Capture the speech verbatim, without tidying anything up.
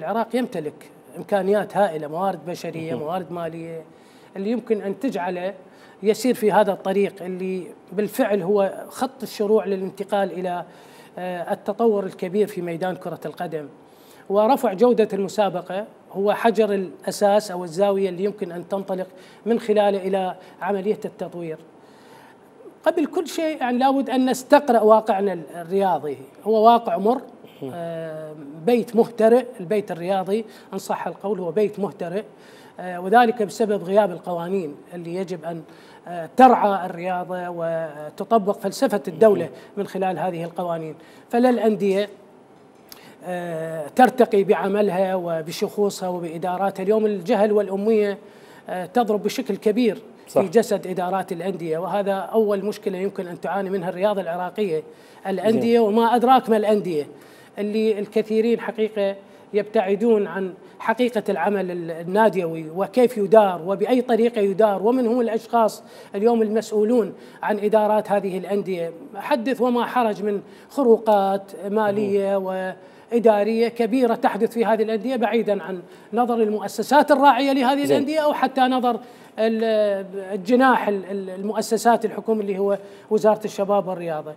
العراق يمتلك إمكانيات هائلة، موارد بشرية، موارد مالية، اللي يمكن أن تجعله يسير في هذا الطريق اللي بالفعل هو خط الشروع للانتقال إلى التطور الكبير في ميدان كرة القدم. ورفع جودة المسابقة هو حجر الأساس أو الزاوية اللي يمكن أن تنطلق من خلاله إلى عملية التطوير. قبل كل شيء يعني لابد أن نستقرأ واقعنا الرياضي، هو واقع مر، بيت مهترئ. البيت الرياضي إن صح القول هو بيت مهترئ، وذلك بسبب غياب القوانين اللي يجب أن ترعى الرياضة وتطبق فلسفة الدولة من خلال هذه القوانين. فلا الأندية ترتقي بعملها وبشخوصها وبإداراتها. اليوم الجهل والأمية تضرب بشكل كبير صح. في جسد إدارات الأندية، وهذا أول مشكلة يمكن أن تعاني منها الرياضة العراقية. الأندية وما أدراك ما الأندية، اللي الكثيرين حقيقة يبتعدون عن حقيقة العمل الناديوي وكيف يدار وبأي طريقة يدار، ومن هم الأشخاص اليوم المسؤولون عن إدارات هذه الأندية. حدث وما حرج من خروقات مالية وإدارية كبيرة تحدث في هذه الأندية، بعيدا عن نظر المؤسسات الراعية لهذه زي. الأندية أو حتى نظر الجناح المؤسسات الحكومية اللي هو وزارة الشباب والرياضة.